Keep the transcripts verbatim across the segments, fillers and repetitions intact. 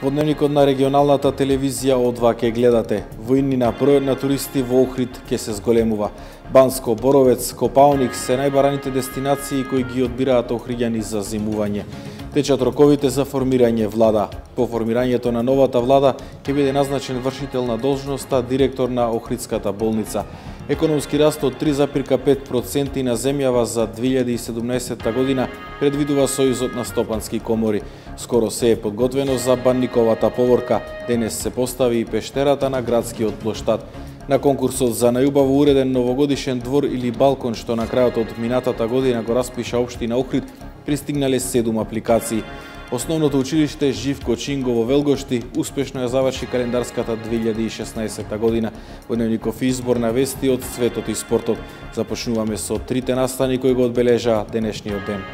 Во дневникот на регионалната телевизија О два ке гледате. Во иднина бројот на туристи во Охрид ке се зголемува. Банско, Боровец, Копалник се најбараните дестинации кои ги одбираат охриѓани за зимување. Течат роковите за формирање влада. По формирањето на новата влада ќе биде назначен вршител на должноста директор на Охридската болница. Економски раст од три запирка пет проценти на земјава за две илјади и седумнаесетта година предвидува Сојузот на стопански комори. Скоро се е подготвено за банниковата поворка. Денес се постави и пештерата на градскиот плоштад. На конкурсот за најубаво уреден новогодишен двор или балкон, што на крајот од минатата година го распиша општина Охрид, пристигнале седум апликации. Основното училиште Живко Чинго во Велгошти успешно ја заврши календарската две илјади и шеснаесетта година. Во дневников избор на вести од светот и спортот. Започнуваме со трите настани кои го одбележаа денешниот ден.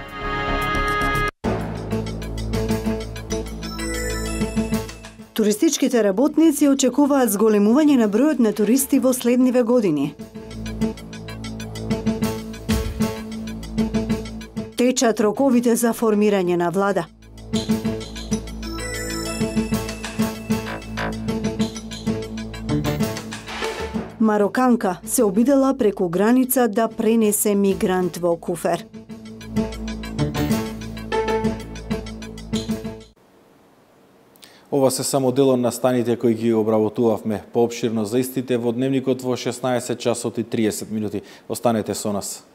Туристичките работници очекуваат зголемување на бројот на туристи во следниве години. Течат роковите за формирање на влада. Мароканка се обидела преку граница да пренесе мигрант во куфер. Ова се само дел од настаните кои ги обработувавме. Поопширно за истите во дневникот во шеснаесет часот и триесет минути. Останете со нас.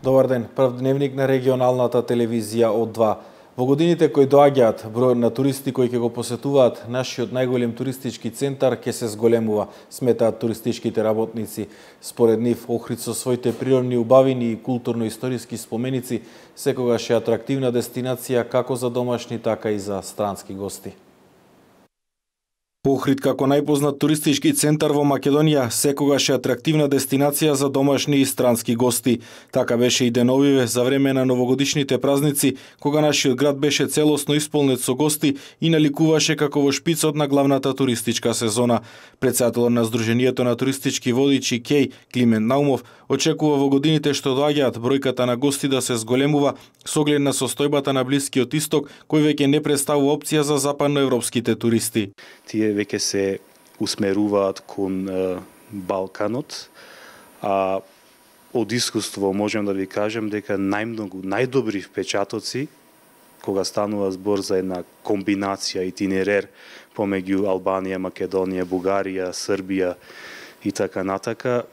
Добар ден, прв дневник на регионалната телевизија О два. Во годините кои доаѓаат, бројот на туристи кои ќе го посетуваат нашиот најголем туристички центар ќе се зголемува, сметаат туристичките работници. Според нив, Охрид со своите природни убавини и културно-историски споменици секогаш е атрактивна дестинација како за домашни, така и за странски гости. Охрид како најпознат туристички центар во Македонија секогаш е атрактивна дестинација за домашни и странски гости. Така беше и деновиве за време на новогодишните празници, кога нашиот град беше целосно исполнет со гости и наликуваше како во шпицот на главната туристичка сезона. Претседателот на Сдруженијето на туристички водичи Кеј, Климент Наумов, очекува во годините што доаѓаат бројката на гости да се зголемува со оглед на состојбата на Блискиот Исток, кој веќе не представува опција за западноевропските туристи. Тие веќе се усмеруваат кон е, Балканот, а од искуство можам да ви кажам дека најмногу, најдобри впечатоци, кога станува збор за една комбинација итинерер помеѓу Албанија, Македонија, Бугарија, Србија и така натака,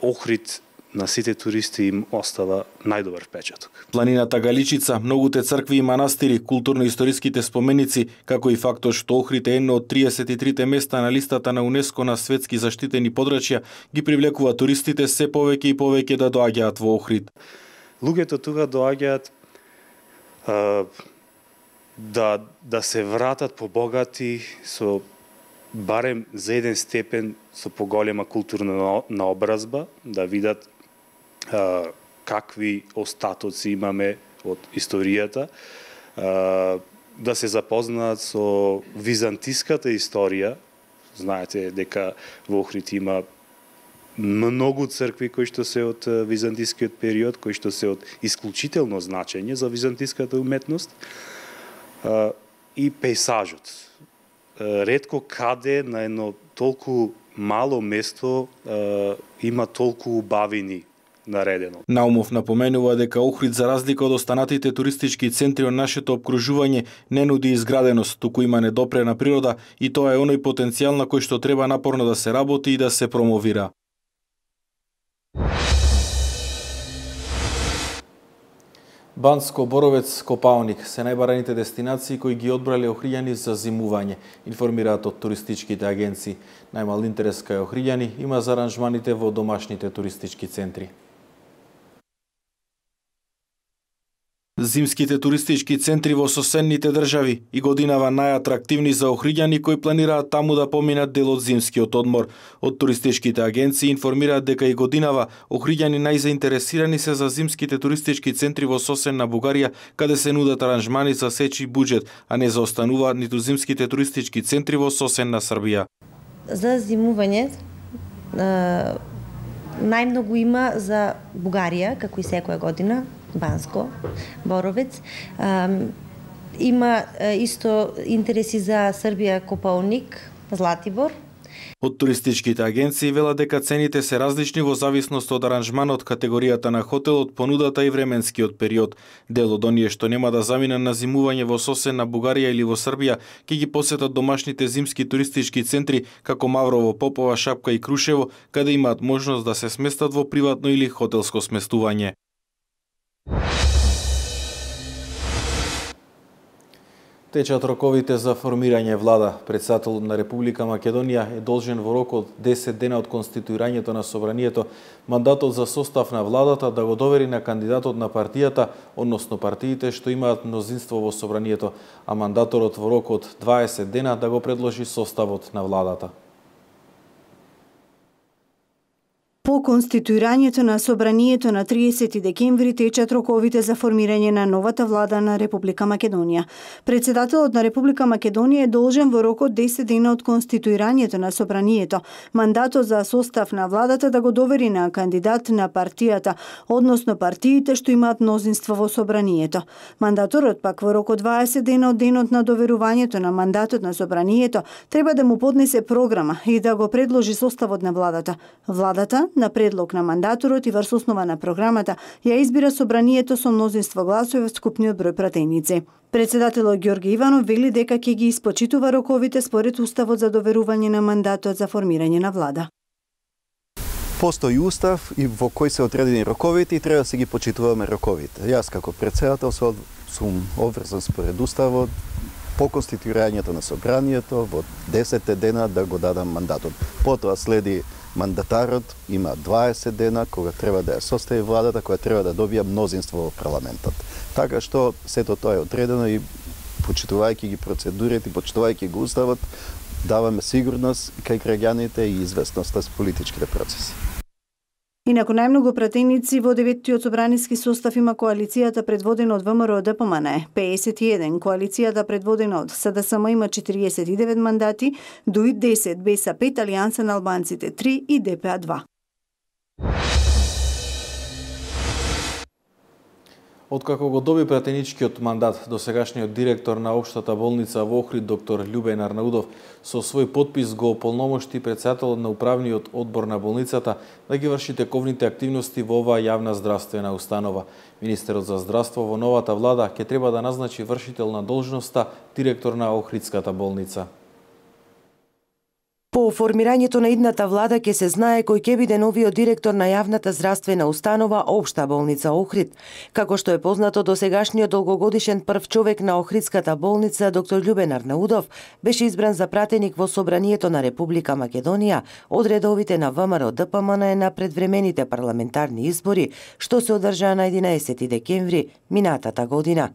Охрид на сите туристи им остава најдобар впечаток. Планината Галичица, многуте цркви и манастири, културно-историските споменици, како и фактот што Охрид е едно од триесет и трите места на листата на УНЕСКО на светски заштитени подрачја, ги привлекува туристите се повеќе и повеќе да доаѓаат во Охрид. Луѓето тука доаѓаат а, да да се вратат побогати со барем за еден степен со поголема културна наобразба, да видат а, какви остатоци имаме од историјата, а, да се запознаат со византиската историја. Знаете дека во Охрид има многу цркви кои што се од византискиот период, кои што се од исклучително значење за византиската уметност, а, и пейсажот. Ретко каде на едно толку мало место е, има толку убавини наредено. Наумов напоменува дека Охрид, за разлика од останатите туристички центри од нашето опкружување, не нуди изграденост, туку има недопрена природа и тоа е оној потенцијал на кој што треба напорно да се работи и да се промовира. Банско, Боровец, Копалник се најбараните дестинации кои ги одбрале охриѓани за зимување, информираат од туристичките агенции. Најмал интерес кај охриѓани има за аранжманите во домашните туристички центри. Зимските туристички центри во соседните држави и годинава најатрактивни за охриѓани кои планираат таму да поминат дел од зимскиот одмор. Од туристичките агенции информираат дека и годинава охриѓани најзаинтересирани се за зимските туристички центри во соседна Бугарија, каде се нудат аранжмани за сечи буџет, а не заостануваат ниту зимските туристички центри во соседна Србија. За зимување најмногу има за Бугарија, како и секоја година, Банско, Боровец. Има исто интереси за Србија, Копаоник, Златибор. Од туристичките агенции велат дека цените се различни во зависност од аранжманот, категоријата на хотелот, понудата и временскиот период. Дел од оние што нема да заминат на зимување во соседна Бугарија или во Србија, ќе ги посетат домашните зимски туристички центри како Маврово, Попова, Шапка и Крушево, каде имаат можност да се сместат во приватно или хотелско сместување. Течат роковите за формирање влада. Претседателот на Република Македонија е должен во рок од десет дена од конституирањето на собранието мандатот за состав на владата да го довери на кандидатот на партијата, односно партиите што имаат мнозинство во собранието, а мандаторот во рок од дваесет дена да го предложи составот на владата. По конституирањето на собранието на триесети декември течат роковите за формирање на новата влада на Република Македонија. Претседателот на Република Македонија е должен во рок од десет дена од конституирањето на собранието мандатот за состав на владата да го довери на кандидат на партијата, односно партиите што имаат мнозинство во собранието. Мандаторот пак во рок од дваесет дена од денот на доверувањето на мандатот на собранието треба да му поднесе програма и да го предложи составот на владата. Владата на предлог на мандаторот и врз основа на програмата ја избира собранието со мнозинство гласови од скупниот број пратеници. Председателот Ѓорги Иванов вели дека ќе ги испочитува роковите според уставот за доверување на мандатот за формирање на влада. Постои устав и во кој се одредени роковите и треба да се ги почитуваме роковите. Јас како председател сум обврзан според уставот по конституирањето на собранието во десет дена да го дадам мандатот. Потоа следи мандатарот, има дваесет дена кога треба да ја состави владата, која треба да добија мнозинство во парламентот. Така што сето тоа е одредено и почитувајќи ги процедурите, почитувајќи го уставот, даваме сигурност кај граѓаните и известност за политичките процеси. Инаку најмногу пратеници во деветиот собраниски состав има коалицијата предводена од ВМРО Д П М Н, педесет и еден, коалицијата предводена од С Д С М има четириесет и девет мандати, Д У И десет, Б С пет, Алијанса на албанците три и Д П А два. Откако го доби пратеничкиот мандат, досегашниот директор на Општата болница во Охрид, доктор Љубен Арнаудов, со свој подпис го ополномошти претседателот на управниот одбор на болницата да ги врши тековните активности во оваа јавна здравствена установа. Министерот за здравство во новата влада ќе треба да назначи вршител на должноста директор на Охридската болница. По формирањето на идната влада ќе се знае кој ќе биде новиот директор на јавната здравствена установа Општа болница Охрид. Како што е познато, досегашниот долгогодишен прв човек на Охридската болница, доктор Љубен Арнаудов, беше избран за пратеник во Собранието на Република Македонија од редовите на ВМРО Д П М Н на предвремените парламентарни избори, што се одржаа на единаесети декември минатата година.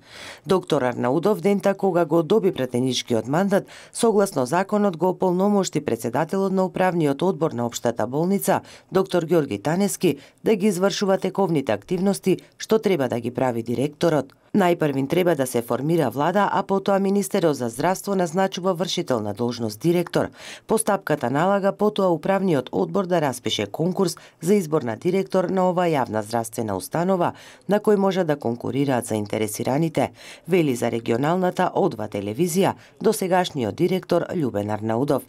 Доктор Арнаудов, дента кога го доби пратеничкиот мандат, согласно законот го ополномошти председателот на управниот одбор на Општата болница, доктор Ѓорги Танески, да ги извршува тековните активности што треба да ги прави директорот. Најпрвин треба да се формира влада, а потоа министерот за здравство назначува вршител на должност директор. Постапката налага потоа управниот одбор да распише конкурс за избор на директор на оваа јавна здравствена установа, на кој може да конкурираат заинтересираните, вели за регионалната О два телевизија досегашниот директор Љубен Арнаудов.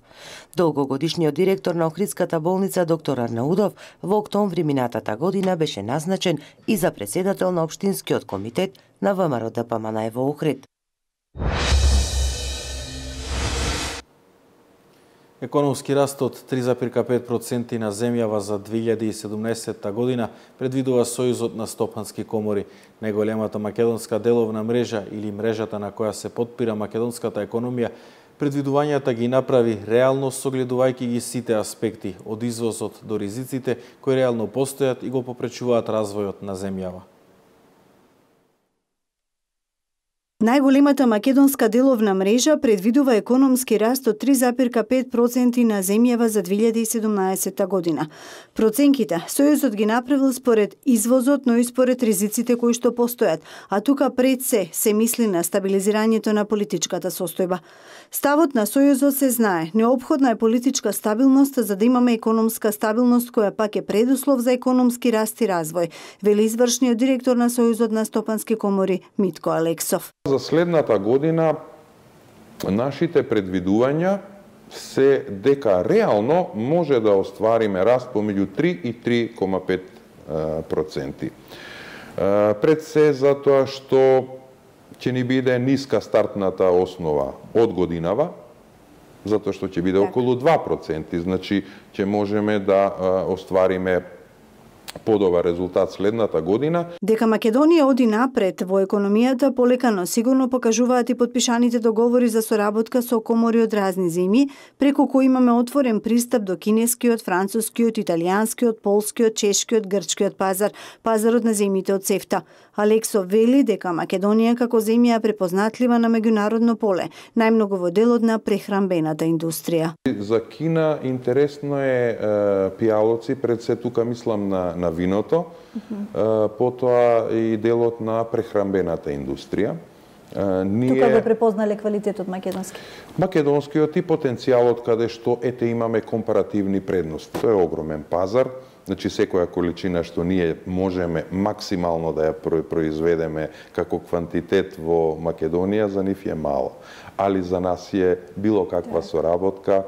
Долгогодишниот директор на Охридската болница доктор Арнаудов во октомври минатата година беше назначен и за претседател на општинскиот комитет на ВМРО Д П М Н во Охрид. Економски раст од три зарез пет проценти на земјава за две илјади и седумнаесетта година предвидува Сојузот на стопански комори. Најголемата македонска деловна мрежа или мрежата на која се потпира македонската економија предвидувањата ги направи реално согледувајќи ги сите аспекти, од извозот до ризиците кои реално постојат и го попречуваат развојот на земјава. Најголемата македонска деловна мрежа предвидува економски раст од три запирка пет проценти на земјава за две илјади и седумнаесетта година. Проценките Сојузот ги направил според извозот, но и според ризиците кои што постојат, а тука пред се се мисли на стабилизирањето на политичката состојба. Ставот на Сојузот се знае, неопходна е политичка стабилност за да имаме економска стабилност која пак е предуслов за економски раст и развој, вели извршниот директор на Сојузот на стопански комори Митко Алексов. За следната година нашите предвидувања се дека реално може да оствариме раст помеѓу три и три кома пет проценти. Пред се затоа што ќе ни биде ниска стартната основа од годинава, затоа што ќе биде околу два проценти, значи ќе можеме да оствариме подобар резултат следната година. Дека Македонија оди напред во економијата полека, но сигурно покажуваат и подпишаните договори за соработка со комори од разни земји, преку кои имаме отворен пристап до кинескиот, францускиот, италијанскиот, полскиот, чешкиот, грчкиот пазар, пазарот на земјите од СЕФТА. Алексов вели дека Македонија како земја е препознатлива на меѓународно поле, најмногу во делот на прехранбената индустрија. За Кина интересно е, е пијалоци, пред се тука мислам на на виното, uh-huh. потоа и делот на прехранбената индустрија. Ние... Тука го препознале квалитетот македонски? Македонскиот и потенцијалот каде што ете имаме компаративни предности. Тоа е огромен пазар, значи секоја количина што ние можеме максимално да ја произведеме како квантитет во Македонија, за нив е мала. Али за нас е било каква соработка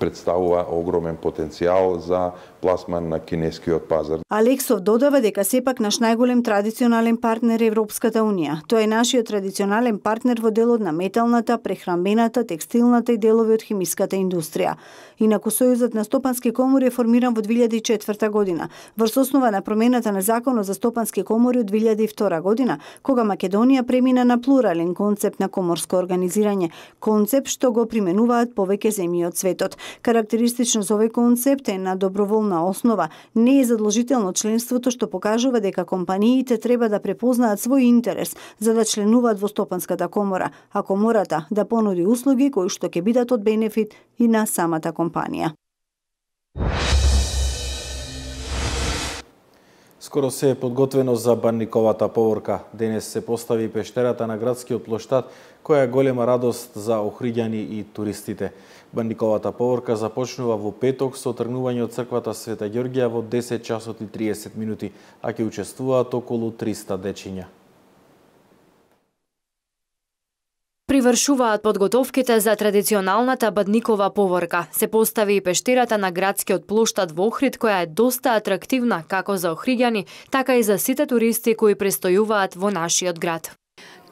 представува огромен потенцијал за пласман на кинескиот пазар. Алексов додава дека сепак наш најголем традиционален партнер е Европската Унија. Тоа е нашиот традиционален партнер во делот на металната, прехранбената, текстилната и делови од химиската индустрија. Инаку Сојузот на стопански комори е формиран во две илјади и четврта година, врз основа на промената на Законот за стопански комори од две илјади и втора година, кога Македонија премина на плурален концепт на коморско организирање, концепт што го применуваат повеќе земји од светот. Карактеристично за овој концепт е на доброволна основа, не е задолжително членството, што покажува дека компаниите треба да препознаат свој интерес за да членуваат во стопанската комора, а комората да понуди услуги кои што ќе бидат од бенефит и на самата компанија. Скоро се е подготвено за Банниковата поворка. Денес се постави пештерата на градскиот плоштад, која е голема радост за охриѓани и туристите. Банниковата поворка започнува во петок со тргнување од црквата Света Ѓорѓија во десет часот и триесет минути, а ќе учествуваат околу триста дечиња. Привршуваат подготовките за традиционалната Бадникова поворка. Се постави и пештерата на градскиот плоштад во Охрид, која е доста атрактивна како за охриѓани, така и за сите туристи кои престојуваат во нашиот град.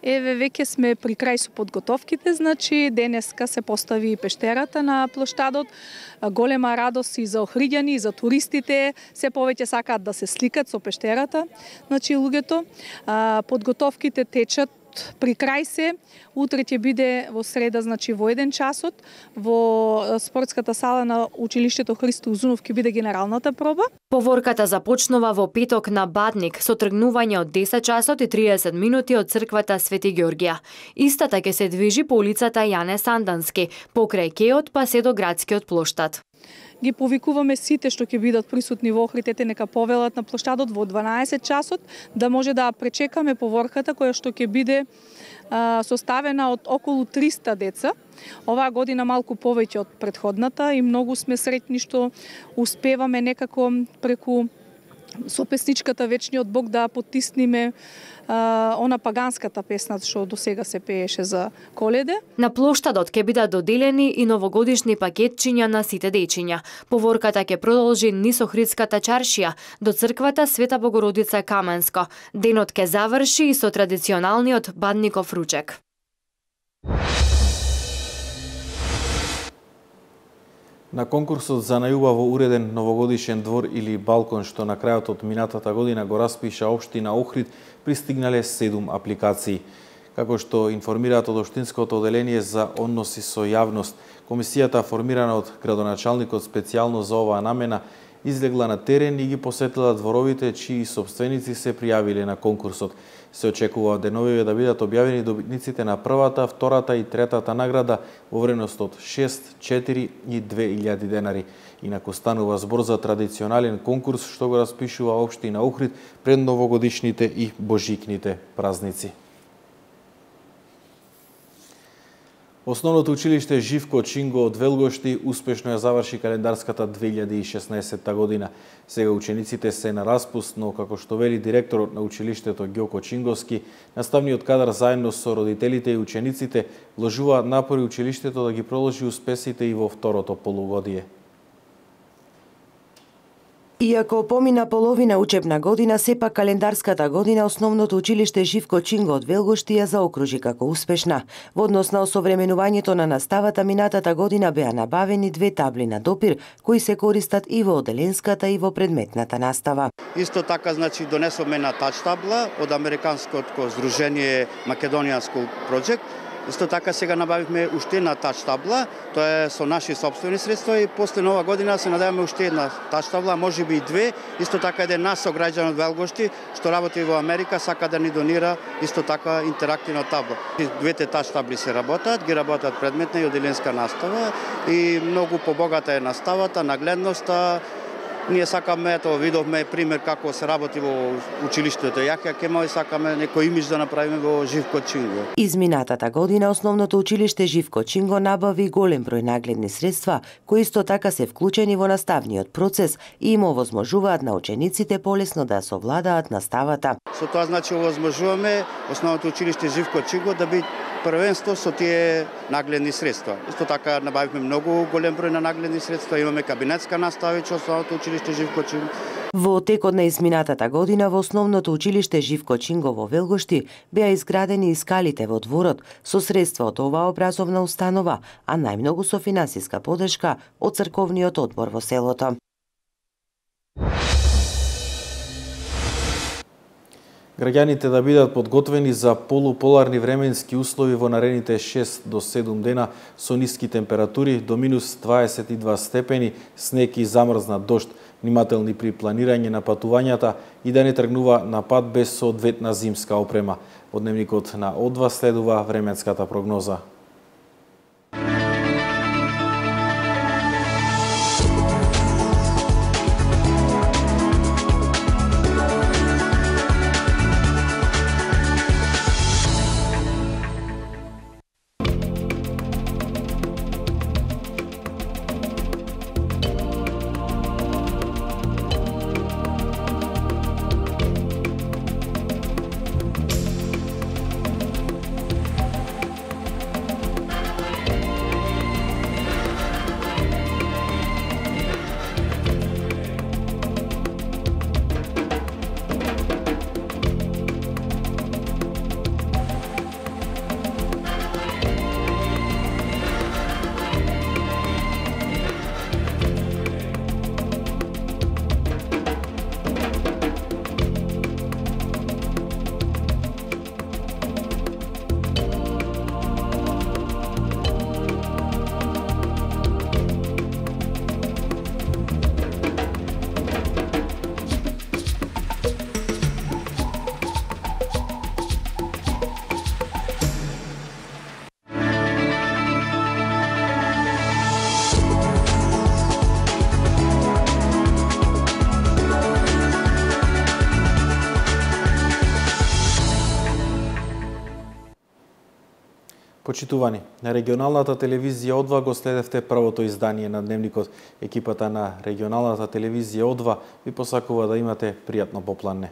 Еве, веќе сме при крај со подготовките, значи денеска се постави пештерата на плоштадот. Голема радост и за охриѓани, и за туристите, се повеќе сакаат да се сликат со пештерата. Значи луѓето, подготовките течат при крај се. Утре ќе биде во среда, значи во еден часот, во спортската сала на училиштето Христо Узунов ќе биде генералната проба. Поворката започнува во петок на Бадник со тргнување од десет часот и триесет минути од црквата Свети Ѓорѓија. Истата ќе се движи по улицата Јане Сандански, покрај кеот па се до градскиот плоштад. Ги повикуваме сите што ќе бидат присутни во Охрид, нека повелат на плоштадот во дванаесет часот, да може да пречекаме поворката која што ќе биде а, составена од околу триста деца. Оваа година малку повеќе од претходната и многу сме среќни што успеваме некако преку со песничката Вечниот Бог да потисниме а, она паганската песна што до сега се пееше за Коледе. На плоштадот ќе бидат доделени и новогодишни пакетчиња на сите дечиња. Поворката ќе продолжи низ Охридската чаршија до црквата Света Богородица Каменско. Денот ќе заврши и со традиционалниот Бадников ручек. На конкурсот за најубаво уреден новогодишен двор или балкон што на крајот од минатата година го распиша општина Охрид, пристигнале седум апликации. Како што информираат од Општинското оделение за односи со јавност, комисијата формирана од градоначалникот специјално за оваа намена излегла на терен и ги посетила дворовите чии собственици се пријавиле на конкурсот. Се очекува деновиве да бидат објавени добитниците на првата, втората и третата награда во вредност од шест, четири и две илјади денари. Инаку станува збор за традиционален конкурс што го распишува општина Охрид пред новогодишните и божикните празници. Основното училиште Живко Чинго од Велгошти успешно ја заврши календарската две илјади и шеснаесетта година. Сега учениците се на распуст, но како што вели директорот на училиштето Ѓоко Чинговски, наставниот кадар заедно со родителите и учениците вложуваат напори училиштето да ги продолжи успесите и во второто полугодие. Иако помина половина учебна година, сепак календарската година основното училиште Живко Чинго од Велгошти ја заокружи како успешна. Во однос на осовременувањето на наставата, минатата година беа набавени две табли на допир, кои се користат и во оделенската и во предметната настава. Исто така, значи, донесовме на тач табла од Американското здружение Македониан School Project. Исто така сега набавивме уште една тач табла, тоа е со наши собствени средства и после нова година се надеваме уште една тач табла, можеби и две. Исто така еден наш сограѓан од Велгошти што работи во Америка сака да ни донира исто така интерактивна табла. Двете тач табли се работат, ги работат предметна и оделенска настава и многу побогата е наставата, нагледноста. Ние сакаме, ето видовме пример како се работи во училиштето Јахја Кемал и сакаме некој имидж да направиме во Живко Чинго. Изминатата година основното училиште Живко Чинго набави голем број нагледни средства, кои исто така се вклучени во наставниот процес и им овозможуваат на учениците полесно да совладаат наставата. Со тоа значи овозможуваме основното училиште Живко Чинго да биде првенство со тие нагледни средства. Исто така набавивме многу голем број на нагледни средства, имаме кабинетска настава во основното училиште Живко Чинго. Во текот на изминатата година во основното училиште Живко Чинго во Велгошти беа изградени и скалите во дворот со средства од оваа образовна установа, а најмногу со финансиска подршка од црковниот одбор во селото. Граѓаните да бидат подготвени за полуполарни временски услови во наредните шест до седум дена со ниски температури до минус дваесет и два степени, снег и замрзнат дожд, внимателни при планирање на патувањата и да не тргнува на пат без соодветна зимска опрема. Во дневникот на О два следува временската прогноза. Почитувани, на регионалната телевизија О два го следевте првото издание на Дневникот. Екипата на регионалната телевизија О два ви посакува да имате пријатно попланне.